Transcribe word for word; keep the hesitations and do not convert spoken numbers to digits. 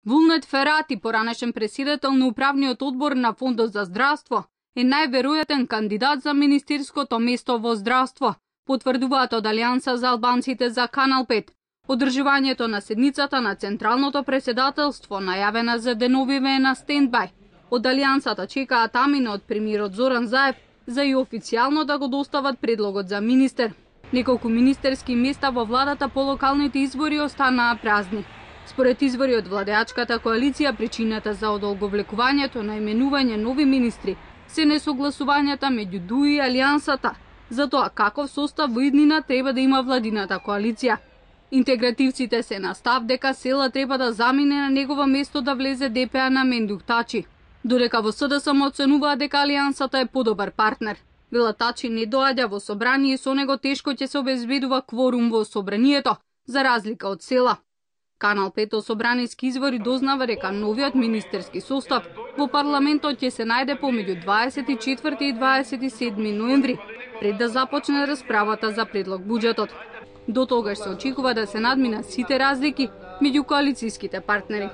Вулнет Ферати, поранешен претседател на управниот одбор на Фондот за здравство, е најверојатен кандидат за министерското место во здравство, потврдуваат од Алијанса за албанците за Канал пет. Одржувањето на седницата на Централното претседателство, најавена за деновиве, е на стендбај. Од Алијансата чекаат амина од премиерот Зоран Заев за и официјално да го достават предлогот за министер. Неколку министерски места во владата по локалните избори останаа празни. Според извори од владеачката коалиција, причината за одолговлекувањето на именување нови министри се несогласувањата меѓу ДУ и Алијансата за тоа каков состав во иднина треба да има владината коалиција. Интегративците се на став дека Села треба да замине на негово место да влезе ДПА на Мендух Тачи, додека во СДСМ оценуваат дека Алијансата е подобар партнер. Вела Тачи не доаѓа во собрание и со него тешко ќе се обезбедува кворум во собранието, за разлика од Села. Канал пет собраниски извори дознава дека новиот министерски состав во парламентот ќе се најде помеѓу дваесет и четврти и дваесет и седми ноември, пред да започне расправата за предлог буџетот. До тогаш се очекува да се надминат сите разлики меѓу коалицијските партнери.